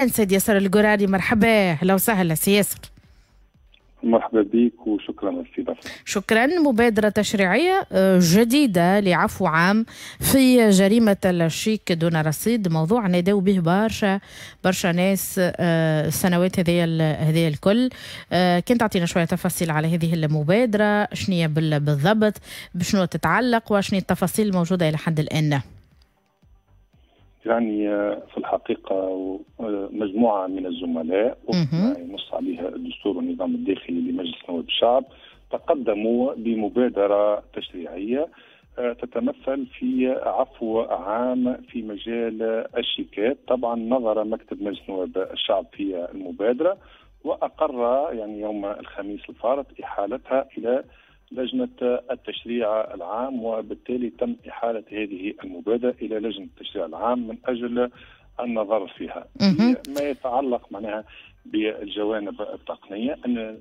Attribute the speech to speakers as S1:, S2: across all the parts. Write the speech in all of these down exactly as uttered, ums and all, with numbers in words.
S1: سيد ياسر القراري، مرحبا، اهلا وسهلا سي ياسر.
S2: مرحبا بك وشكرا على الاستضافة.
S1: شكرا. مبادرة تشريعية جديدة لعفو عام في جريمة الشيك دون رصيد، موضوع نادوا به برشا برشا ناس السنوات هذه هذه الكل. كنت تعطينا شوية تفاصيل على هذه المبادرة، شنو بالضبط، بشنو تتعلق، وشنو التفاصيل الموجودة إلى حد الآن؟
S2: يعني في الحقيقة مجموعة من الزملاء وما ينص عليها الدستور والنظام الداخلي لمجلس نواب الشعب تقدموا بمبادرة تشريعية تتمثل في عفو عام في مجال الشيكات. طبعا نظر مكتب مجلس نواب الشعب في المبادرة وأقر يعني يوم الخميس الفارط إحالتها إلى لجنة التشريع العام، وبالتالي تم إحالة هذه المبادرة إلى لجنة التشريع العام من أجل النظر فيها. ما يتعلق معناها بالجوانب التقنية، أن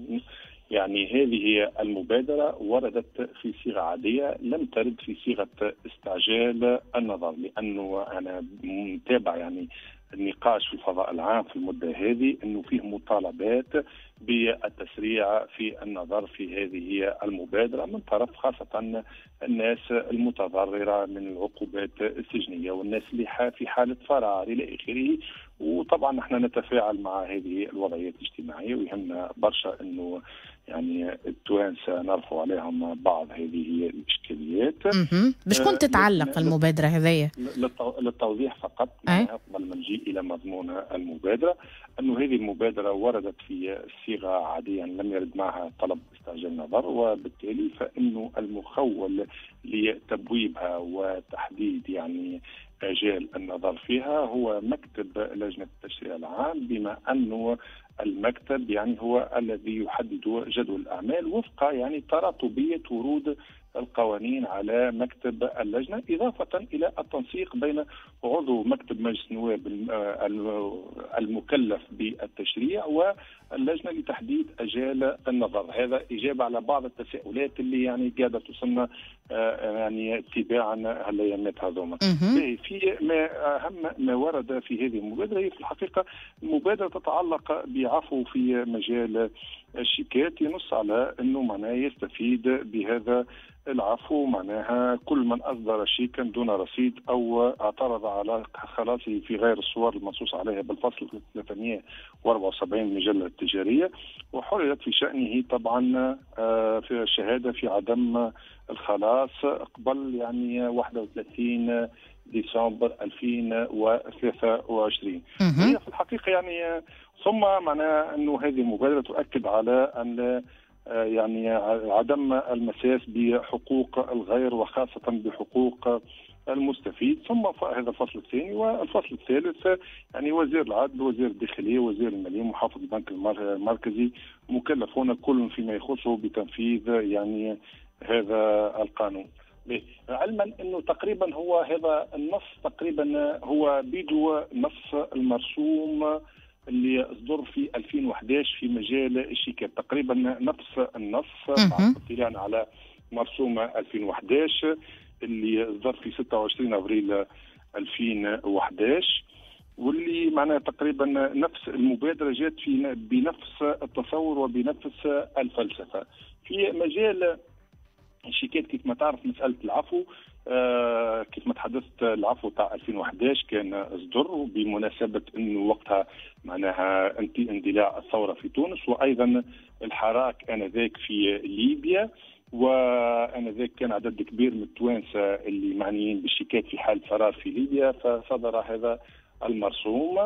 S2: يعني هذه المبادرة وردت في صيغة عادية، لم ترد في صيغة استعجال النظر، لأنه أنا متابع يعني النقاش في الفضاء العام في المدة هذه أنه فيه مطالبات بالتسريع في النظر في هذه المبادرة من طرف خاصة الناس المتضررة من العقوبات السجنية والناس اللي في حالة فرار إلى آخره. وطبعا نحن نتفاعل مع هذه الوضعيات الاجتماعية، ويهمنا برشا أنه يعني التوانسة نرفع عليهم بعض هذه الإشكاليات.
S1: بشكون تتعلق المبادرة هذه؟
S2: للتوضيح فقط قبل ما نجي إلى مضمون المبادرة، أنه هذه المبادرة وردت في صيغة عادية لم يرد معها طلب استعجال نظر، وبالتالي فإنه المخول لتبويبها وتحديد يعني آجال النظر فيها هو مكتب لجنة التشريع العام، بما أنه المكتب يعني هو الذي يحدد جدول الأعمال وفق يعني تراتبية ورود القوانين على مكتب اللجنة، إضافة إلى التنسيق بين عضو مكتب مجلس النواب المكلف بالتشريع واللجنة لتحديد أجال النظر. هذا إجابة على بعض التساؤلات اللي يعني قاعدة توصلنا يعني تباعا هالأيامات هذوما. في ما أهم ما ورد في هذه المبادرة هي في الحقيقة المبادرة تتعلق بعفو في مجال الشيكات، ينص على أنه معناه يستفيد بهذا العفو معناها كل من أصدر شيكا دون رصيد أو اعترض على خلاصه في غير الصور المنصوص عليها بالفصل ثلاثمئة وأربعة وسبعين من المجلة التجارية، وحررت في شأنه طبعا في الشهادة في عدم الخلاص قبل يعني واحد وثلاثين ديسمبر ألفين وثلاثة وعشرين. هي في الحقيقة يعني ثم معناها أنه هذه المبادرة تؤكد على أن يعني عدم المساس بحقوق الغير وخاصة بحقوق المستفيد. ثم هذا الفصل الثاني. والفصل الثالث يعني وزير العدل، وزير الداخلية، وزير المالية، محافظ البنك المركزي مكلفون كل فيما يخصه بتنفيذ يعني هذا القانون. علما انه تقريبا هو هذا النص تقريبا هو بيدو نص المرسوم اللي اصدر في ألفين وأحد عشر في مجال الشيكات، تقريبا نفس النص بعد اطلاعنا على مرسوم ألفين وأحد عشر اللي اصدر في ستة وعشرين ابريل ألفين وأحد عشر، واللي معناها تقريبا نفس المبادرة جات في بنفس التصور وبنفس الفلسفة. في مجال الشيكات كيف ما تعرف مسالة العفو، آه كيف ما تحدثت العفو تاع ألفين وأحد عشر كان اصدر بمناسبة انه وقتها معناها اندلاع الثورة في تونس، وايضا الحراك انذاك في ليبيا، وانذاك كان عدد كبير من التوانسة اللي معنيين بالشيكات في حال فرار في ليبيا، فصدر هذا المرسوم.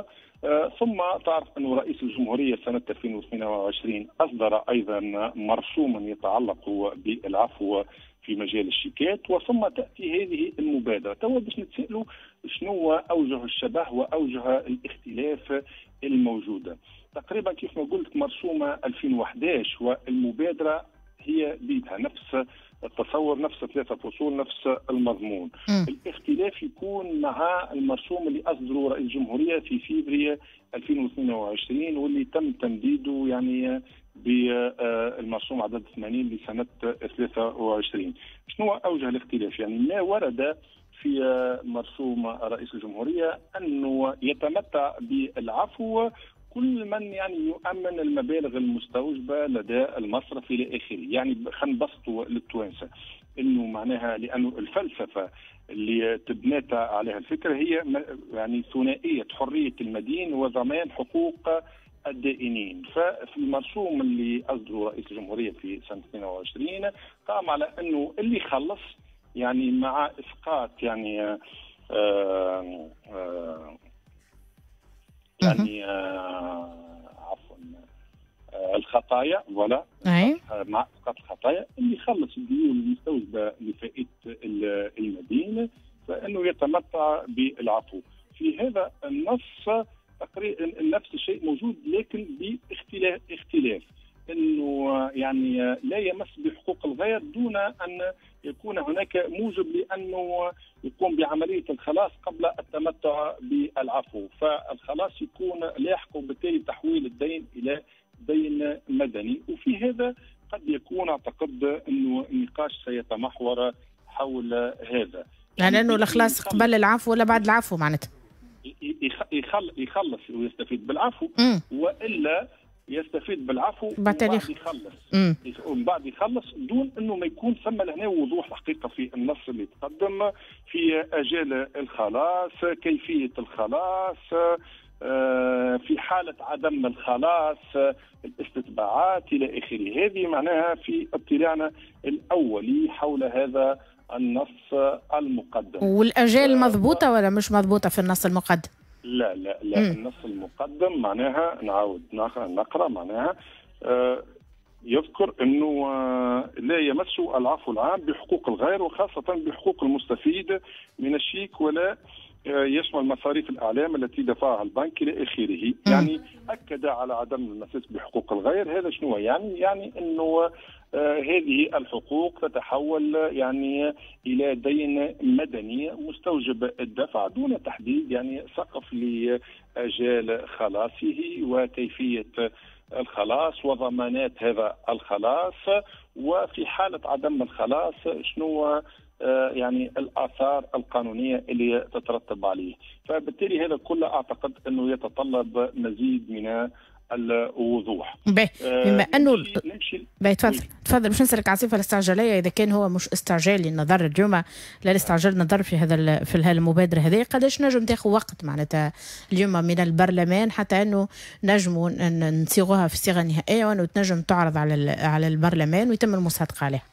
S2: آه ثم تعرف أنه رئيس الجمهورية سنة ألفين واثنين وعشرين أصدر أيضا مرسوما يتعلق بالعفو في مجال الشيكات، وثم تأتي هذه المبادرة. توا باش نتسألوا شنو أوجه الشبه وأوجه الاختلاف الموجودة. تقريبا كيف ما قلت مرسومة ألفين وأحد عشر والمبادرة هي بيدها نفس التصور، نفس ثلاثة فصول، نفس المضمون. م. الاختلاف يكون مع المرسوم اللي أصدره رئيس الجمهورية في فبراير ألفين واثنين وعشرين واللي تم تمديده يعني بالمرسوم عدد ثمانين لسنة ثلاثة وعشرين. شنو أوجه الاختلاف؟ يعني ما ورد في مرسوم رئيس الجمهورية أنه يتمتع بالعفو كل من يعني يؤمن المبالغ المستوجبة لدى المصرف إلى آخره. يعني خلينا نبسطوا للتوانسة أنه معناها، لأنه الفلسفة اللي تبنات عليها الفكرة هي يعني ثنائية حرية المدين وضمان حقوق الدائنين. ففي المرسوم اللي أصدره رئيس الجمهورية في سنة اثنين وعشرين قام على أنه اللي خلص يعني مع إسقاط يعني آآ آآ يعني عفوا الخطايا، ولا مع إسقاط الخطايا اللي خلص الديون المستوجبة لفائدة المدين فإنه يتمتع بالعفو. في هذا النص تقريبا نفس الشيء موجود، لكن باختلاف اختلاف انه يعني لا يمس بحقوق الغير دون ان يكون هناك موجب لانه يقوم بعملية الخلاص قبل التمتع بالعفو، فالخلاص يكون لاحق وبالتالي تحويل الدين الى دين مدني. وفي هذا قد يكون اعتقد انه النقاش سيتمحور حول هذا،
S1: يعني انه الخلاص قبل العفو ولا بعد العفو معناتها
S2: يخلص ويستفيد بالعفو، والا يستفيد بالعفو وبعد يخلص ومن بعد يخلص دون انه ما يكون ثم لهنا وضوح الحقيقة في النص اللي تقدم في اجال الخلاص، كيفية الخلاص، في حاله عدم الخلاص، الاستتباعات الى اخره. هذه معناها في اطلاعنا الاولي حول هذا النص المقدم.
S1: والاجال مضبوطة ولا مش مضبوطة في النص المقدم؟
S2: لا لا لا مم. النص المقدم معناها نعاود نقرا معناها آه يذكر انه آه لا يمس العفو العام بحقوق الغير وخاصة بحقوق المستفيد من الشيك، ولا آه يشمل مصاريف الاعلام التي دفعها البنك الى اخره. يعني اكد على عدم المساس بحقوق الغير. هذا شنو يعني؟ يعني انه آه هذه الحقوق تتحول يعني الى دين مدني مستوجب الدفع دون تحديد يعني سقف لاجال خلاصه وكيفية الخلاص وضمانات هذا الخلاص، وفي حاله عدم الخلاص شنو يعني الاثار القانونية اللي تترتب عليه. فبالتالي هذا كله اعتقد انه يتطلب مزيد من الوضوح.
S1: باهي، بما انه باهي تفضل تفضل. باش نسالك على الصفة الاستعجاليه، اذا كان هو مش استعجالي النظر اليوم، لا الاستعجال النظر في هذا في المبادرة هذه، قداش نجم تاخذ وقت معناتها اليوم من البرلمان حتى انه نجموا نصيغوها في الصيغة النهائية وانه تنجم تعرض على على البرلمان ويتم المصادقة عليها؟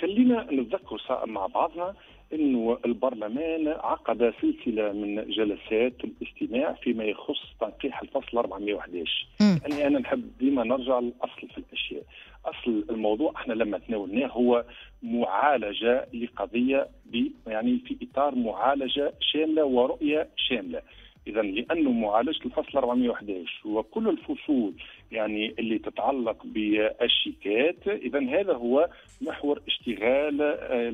S2: خلينا نتذكر مع بعضنا انه البرلمان عقد سلسلة من جلسات الاستماع فيما يخص تنقيح الفصل أربعمئة وأحد عشر. يعني انا نحب ديما نرجع للاصل في الاشياء. اصل الموضوع احنا لما تناولناه هو معالجة لقضيه يعني في اطار معالجة شاملة ورؤية شاملة. اذا لانه معالجة الفصل أربعمئة وأحد عشر وكل الفصول يعني اللي تتعلق بالشيكات، اذا هذا هو محور اشتغال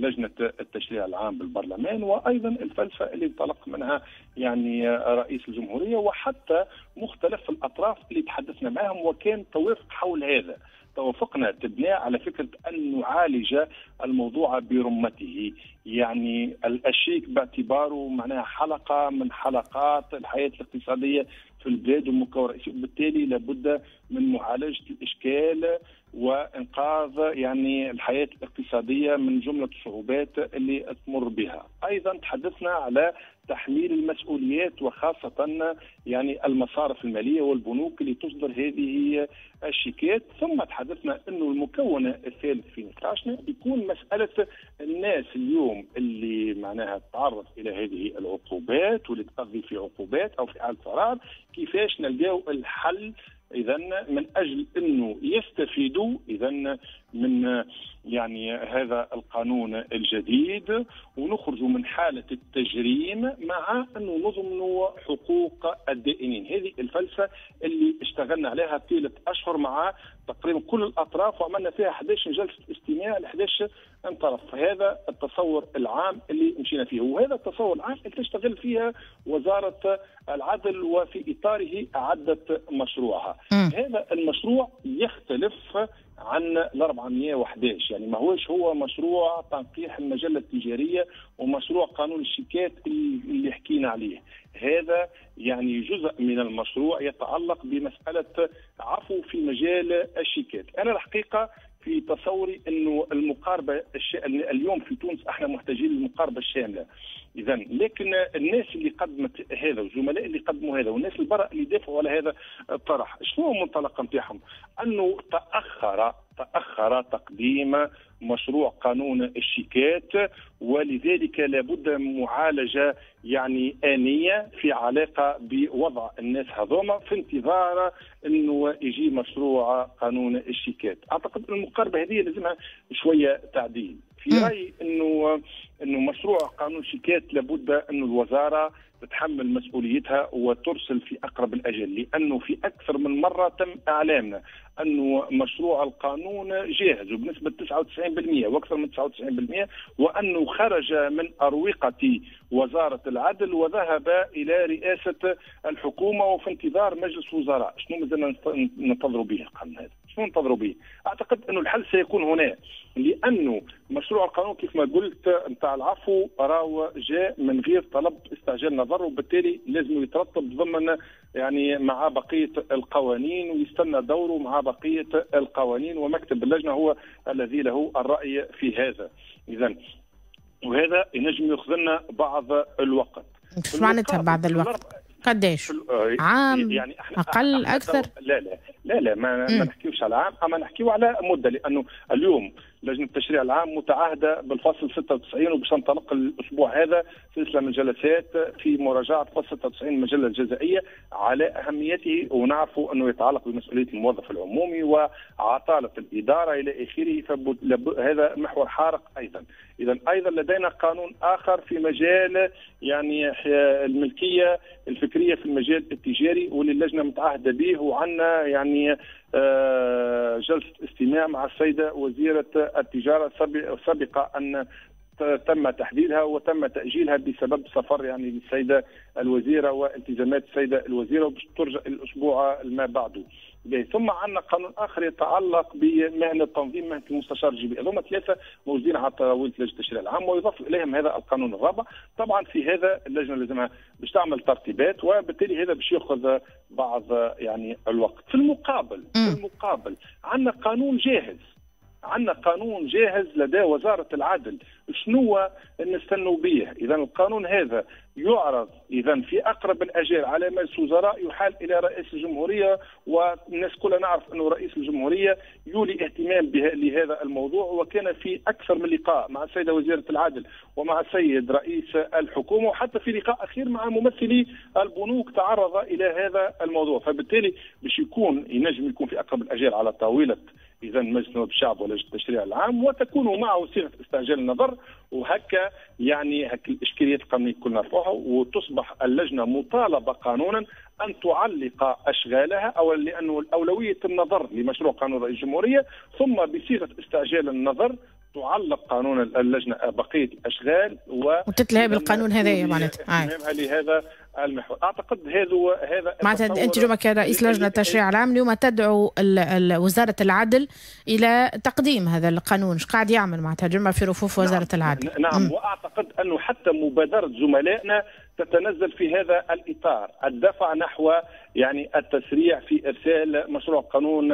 S2: لجنة التشريع العام بالبرلمان، وايضا الفلسفة اللي انطلق منها يعني رئيس الجمهورية وحتى مختلف الاطراف اللي تحدثنا معهم وكان توافق حول هذا. توافقنا تبنى على فكرة أن نعالج الموضوع برمته، يعني الشيك باعتباره معناها حلقة من حلقات الحياة الاقتصادية في البلاد ومكون رئيسي، وبالتالي لابد من معالجة الإشكال وإنقاذ يعني الحياة الاقتصادية من جملة الصعوبات اللي تمر بها. أيضا تحدثنا على تحميل المسؤوليات وخاصة يعني المصارف المالية والبنوك اللي تصدر هذه الشيكات. ثم تحدثنا أنه المكون الثالث في نقاشنا يكون مسألة الناس اليوم اللي معناها تتعرض إلى هذه العقوبات واللي تقضي في عقوبات أو في حالة فرار، كيفاش نلقاو الحل إذا من أجل أنه يستفيدوا إذا من يعني هذا القانون الجديد ونخرجوا من حالة التجريم مع أنه نضمن حقوق الدائنين. هذه الفلسفة اللي اشتغلنا عليها طيلة أشهر مع تقريبا كل الأطراف وعملنا فيها أحد عشر جلسة استماع ل أحد عشر طرف. هذا التصور العام اللي مشينا فيه، وهذا التصور العام اللي تشتغل فيها وزارة العدل وفي إطاره أعدت مشروعها. السابقة. م. هذا المشروع يختلف عن ال أربعمئة وأحد عشر، يعني ما هوش هو مشروع تنقيح المجلة التجارية ومشروع قانون الشيكات اللي حكينا عليه. هذا يعني جزء من المشروع يتعلق بمسألة عفو في مجال الشيكات. أنا الحقيقة في تصوري أنه المقاربة الش... اليوم في تونس احنا محتاجين للمقاربة الشاملة. إذا لكن الناس اللي قدمت هذا والزملاء اللي قدموا هذا والناس البراء اللي دافعوا على هذا الطرح، شنو المنطلق نتاعهم؟ أنه تأخر تأخر تقديم مشروع قانون الشيكات، ولذلك لابد من معالجة يعني آنية في علاقة بوضع الناس هذوما في انتظار أنه يجي مشروع قانون الشيكات. أعتقد المقاربة هذه لازمها شوية تعديل. في رأيي أنه أنه مشروع قانون الشيكات لابد أن الوزارة تتحمل مسؤوليتها وترسل في أقرب الأجل، لأنه في أكثر من مرة تم إعلامنا أنه مشروع القانون جاهز وبنسبة تسعة وتسعين بالمئة وأكثر من تسعة وتسعين بالمئة، وأنه خرج من أروقة وزارة العدل وذهب إلى رئاسة الحكومة وفي انتظار مجلس وزراء. شنو مازلنا ننتظروا به القانون هذا؟ شنو ننتظروا به؟ أعتقد أنه الحل سيكون هنا، لأنه مشروع القانون كيف ما قلت نتاع العفو راهو جاء من غير طلب استعجال نظر، وبالتالي لازم يترتب ضمن يعني مع بقية القوانين ويستنى دوره مع بقية القوانين، ومكتب اللجنة هو الذي له الرأي في هذا. إذا وهذا ينجم ياخذ لنا بعض الوقت.
S1: ايش معناتها بعض الوقت؟ قداش؟ عام؟ يعني احنا اقل؟ احنا اكثر؟
S2: لا لا لا لا ما, ما نحكيوش على عام، اما نحكيو على مده، لانه اليوم لجنة التشريع العام متعهده بالفصل ستة وتسعين، وباش تنطلق الاسبوع هذا سلسلة من الجلسات في مراجعه فصل ستة وتسعين المجلة الجزائيه على اهميته، ونعرفوا انه يتعلق بمسؤولية الموظف العمومي وعطاله الادارة الى اخره، فهذا محور حارق ايضا. اذا ايضا لدينا قانون اخر في مجال يعني الملكية الفكرية في المجال التجاري واللي اللجنة متعهده به، وعندنا يعني جلسة استماع مع السيدة وزيرة التجارة سابقة أن تم تحديدها وتم تأجيلها بسبب سفر يعني للسيدة الوزيرة والتزامات السيدة الوزيرة، وباش ترجع الأسبوع ما بعده. ثم عندنا قانون آخر يتعلق بمهنة تنظيم مهنة المستشار الجبائي. هذوما ثلاثة موجودين على طاولة لجنة التشريع العام، ويضاف إليهم هذا القانون الرابع. طبعا في هذا اللجنة لازمها باش تعمل ترتيبات، وبالتالي هذا باش ياخذ بعض يعني الوقت. في المقابل في المقابل عندنا قانون جاهز، عندنا قانون جاهز لدى وزارة العدل، شنو نستنوا به؟ إذا القانون هذا يعرض إذا في أقرب الأجال على مجلس وزراء، يحال إلى رئيس الجمهورية، والناس كلها نعرف أنه رئيس الجمهورية يولي اهتمام لهذا الموضوع، وكان في أكثر من لقاء مع السيدة وزيرة العدل ومع السيد رئيس الحكومة، وحتى في لقاء أخير مع ممثلي البنوك تعرض إلى هذا الموضوع. فبالتالي باش يكون ينجم يكون في أقرب الأجال على طاولة إذا مجلس نواب الشعب ولجنة التشريع العام، وتكون معه صيغة استعجال النظر، وهكا يعني هك الإشكاليات القانونية كلنا نرفعها، وتصبح اللجنة مطالبة قانونا أن تعلق أشغالها، أو لأنه الأولوية النظر لمشروع قانون رئيس الجمهورية، ثم بصيغة استعجال النظر تعلق قانون اللجنة بقية الأشغال و
S1: وتتلهي بالقانون هذايا معناتها
S2: لهذا المحور. اعتقد هذا هذا
S1: معناتها انت اليوم كرئيس لجنة التشريع العام اليوم تدعو وزارة العدل الى تقديم هذا القانون، ايش قاعد يعمل معناتها اليوم في رفوف وزارة
S2: نعم
S1: العدل؟
S2: نعم م. واعتقد انه حتى مبادرة زملائنا تتنزل في هذا الاطار، الدفع نحو يعني التسريع في ارسال مشروع قانون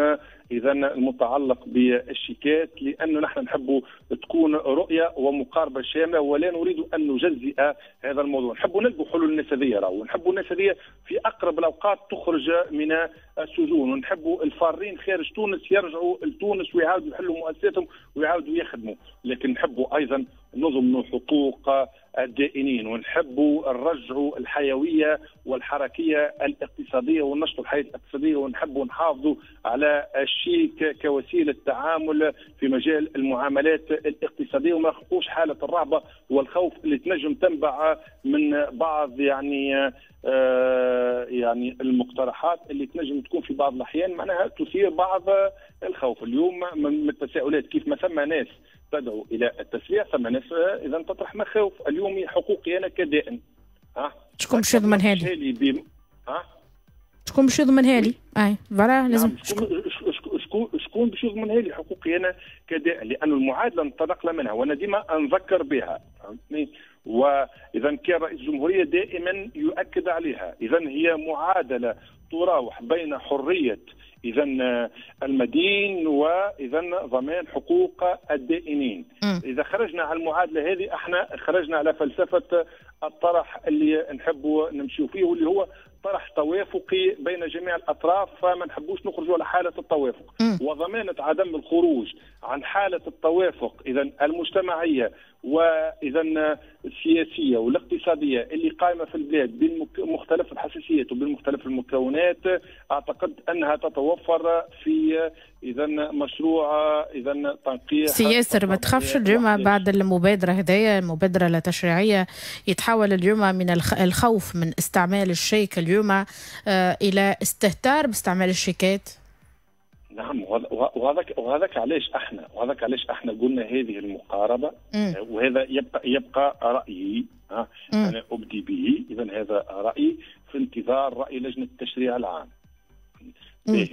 S2: اذا المتعلق بالشيكات، لانه نحن نحب تكون رؤية ومقاربه شاملة، ولا نريد ان نجزئ هذا الموضوع، نحب نلقوا حلول الناس هذيا، ونحب الناس هذيا في اقرب الاوقات تخرج من السجون، ونحب الفارين خارج تونس يرجعوا لتونس ويعاودوا يحلوا مؤسساتهم ويعاودوا يخدموا، لكن نحب ايضا نضمن حقوق الدائنين، ونحبوا نرجعوا الحيوية والحركيه الاقتصادية ونشطوا الحياة الاقتصادية، ونحبوا نحافظوا على الشيك كوسيلة تعامل في مجال المعاملات الاقتصادية، وما نخلقوش حاله الرهبة والخوف اللي تنجم تنبع من بعض يعني آه يعني المقترحات اللي تنجم تكون في بعض الاحيان معناها تثير بعض الخوف. اليوم من التساؤلات كيف ما ثم ناس تدعو الى التسريع، ثم ناس اذا تطرح مخاوف. اليوم حقوقي انا كدائن، ها
S1: شكون باش يضمن هذه؟
S2: ها
S1: شكون باش يضمنها لي؟ اي voilà لازم
S2: نعم. شكون شكون باش يضمنها لي حقوقي انا كدائن؟ لانه المعادلة انطلقنا منها وانا ديما نذكر بها، فهمتني؟ واذا كان رئيس الجمهورية دائما يؤكد عليها. اذا هي معادلة تراوح بين حرية اذا المدين واذا ضمان حقوق الدائنين. م. اذا خرجنا على المعادلة هذه احنا خرجنا على فلسفة الطرح اللي نحبوا نمشيو فيه، واللي هو طرح توافقي بين جميع الاطراف، فما نحبوش نخرجوا على حاله التوافق. م. وضمانه عدم الخروج عن حاله التوافق اذا المجتمعية واذا السياسية والاقتصادية اللي قائمة في البلاد بين مختلف الحساسيات وبين مختلف المكونات، اعتقد انها تتوفر في اذا مشروع اذا تنقيح.
S1: سي ياسر ما تخافش اليوم بعد المبادرة هذيا، المبادرة التشريعية، يتحول اليوم من الخوف من استعمال الشيك اليوم الى استهتار باستعمال الشيكات؟
S2: نعم، وهذاك وهذاك علاش احنا وهذاك علاش احنا قلنا هذه المقاربة. م. وهذا يبقى يبقى رايي، ها انا ابدي به، اذا هذا رايي في انتظار راي لجنة التشريع العام. باهي،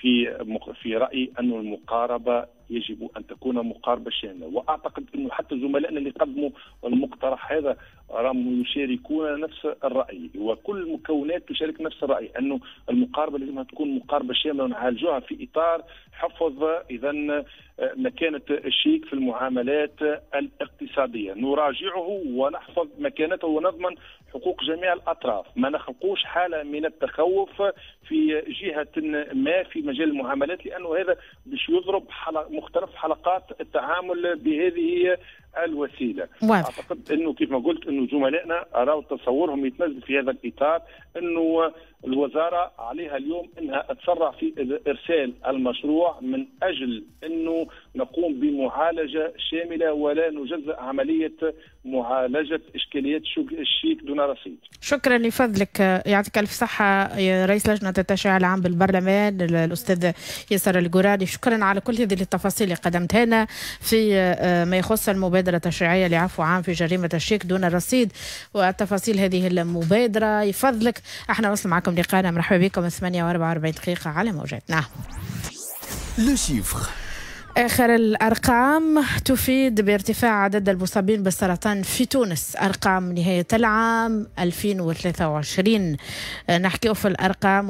S2: في في رايي أن المقاربة يجب ان تكون مقاربة شاملة، واعتقد انه حتى زملائنا اللي قدموا المقترح هذا راهم يشاركون نفس الراي، وكل المكونات تشارك نفس الراي، انه المقاربة لازمها تكون مقاربة شاملة ونعالجوها في اطار حفظ اذا مكانه الشيك في المعاملات الاقتصادية، نراجعه ونحفظ مكانته ونضمن حقوق جميع الاطراف، ما نخلقوش حاله من التخوف في جهة ما في مجال المعاملات، لانه هذا باش يضرب حلق مختلف حلقات التعامل بهذه الوسيلة. واضح. اعتقد انه كيف ما قلت انه زملائنا راوا تصورهم يتنزل في هذا الاطار، انه الوزارة عليها اليوم انها تسرع في ارسال المشروع من اجل انه نقوم بمعالجة شاملة ولا نجزأ عملية معالجة اشكاليات الشيك دون رصيد.
S1: شكرا لفضلك، يعطيك الف صحة يا رئيس لجنة التشريع العام بالبرلمان الاستاذ ياسر القراني، شكرا على كل هذه التفاصيل اللي قدمتها لنا في ما يخص المبادرة التشريعية لعفو عام في جريمة الشيك دون الرصيد وتفاصيل هذه المبادرة. يفضلك احنا وصل معكم لقاءنا، مرحبا بكم ثمانية وأربعة وأربعين دقيقة على موجاتنا.
S3: le chiffre.
S1: آخر الأرقام تفيد بارتفاع عدد المصابين بالسرطان في تونس، أرقام نهاية العام ألفين وثلاثة وعشرين. نحكي في الأرقام